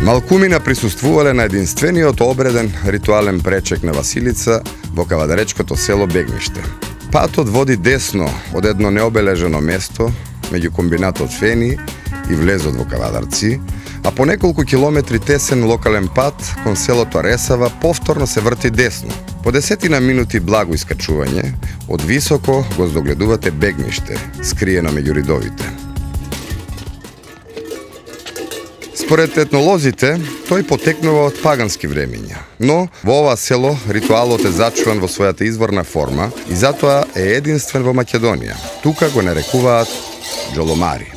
Малкумина присуствувале на единствениот обреден ритуален пречек на Василица во кавадаречкото село Бегниште. Патот води десно од едно необележено место меѓу комбинатот Фени и влезот во Кавадарци, а по неколку километри тесен локален пат кон селото Ресава повторно се врти десно. По 10 минути благо искачување, од високо го здогледувате Бегниште, скриено меѓу ридовите. Според етнолозите, тој потекнува од пагански времења, но во ова село ритуалот е зачуван во својата изворна форма и затоа е единствен во Македонија. Тука го нарекуваат џоломари.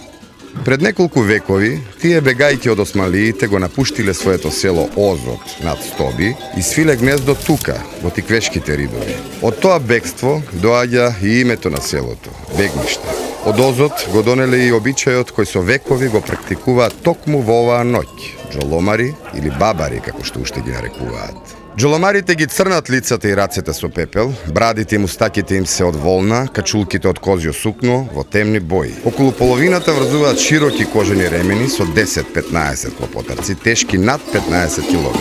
Пред неколку векови, тие бегајки од османлиите го напуштиле своето село Озот над Стоби и свиле гнездо тука, во тиквешките ридови. Од тоа бегство доаѓа и името на селото – Бегниште. Од Озот го донеле и обичајот кој со векови го практикуваат токму во оваа ноќ – џоломари или бабари, како што уште ги нарекуваат. Џоломарите ги црнат лицата и рацете со пепел, брадите и мустаките им се од волна, качулките од козјо сукно во темни бои. Околу половината врзуваат широки кожени ремени со 10-15 клопотарци, тешки над 15 кг.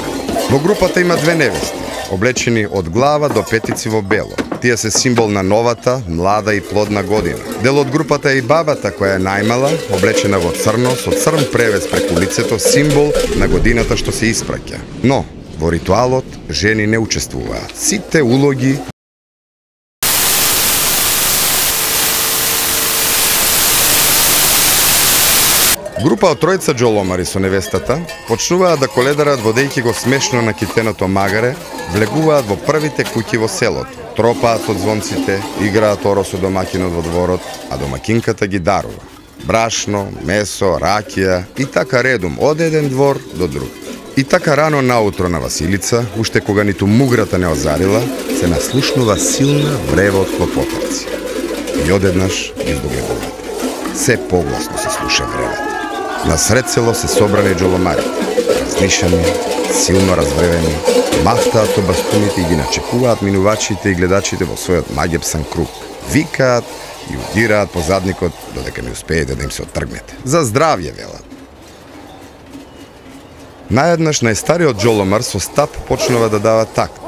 Во групата има две невести, облечени од глава до петици во бело. Тие се символ на новата, млада и плодна година. Дел од групата е и бабата, која е најмала, облечена во црно, со црн превес преку лицето, символ на годината што се испраќа. Но, во ритуалот жени не учествуваат. Сите улоги Група од тројца џоломари со невестата почнуваат да коледарат водејќи го смешно на китеното магаре, влегуваат во првите куќи во селото, тропаат од звонците, играат оро со домакинот во дворот, а домакинката ги дарува брашно, месо, ракија и така редум од еден двор до друг. И така рано наутро на Василица, уште кога ниту муграта не озарила, се наслушнува силна врева од клопотарци. И одеднаш ги здогледувате. Се погласно се слуша вревата. Насред село се собрани џоломарите, разнишани, силно развревени, мафтаат со бастуните и ги начекуваат минувачите и гледачите во својот магепсан круг. Викаат и удираат по задникот додека не успеете да им се оттргнете. За здравје, велат. Наеднаш најстариот џоломар со стап почнува да дава такт.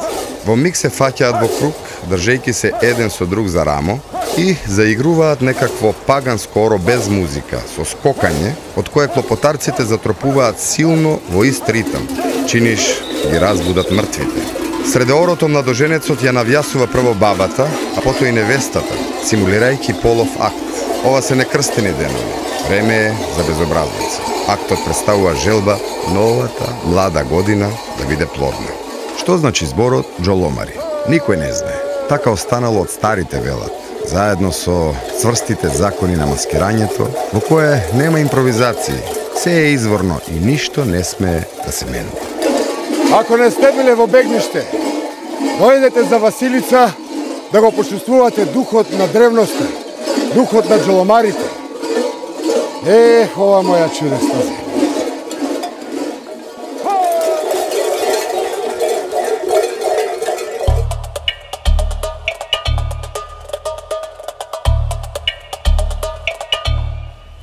Во миг се фаќаат во круг, држејќи се еден со друг за рамо и заигруваат некакво паганско оро без музика, со скокање, од кое клопотарците затропуваат силно во ист ритам, чиниш ги разбудат мртвите. Среде орото младоженецот ја навјасува прво бабата, а потоа и невестата, симулирајќи полов акт. Ова се некрстени денови. Време е за безобразница. Актот представува желба новата, млада година да биде плодна. Што значи зборот џоломари? Никој не знае. Така останало од старите велат, заедно со цврстите закони на маскирањето, во кое нема импровизации, се е изворно и ништо не смее да се менува. Ако не сте биле во Бегниште, дојдете за Василица да го почувствувате духот на древноста, духот на џоломарите. Ова моја чудесна земја.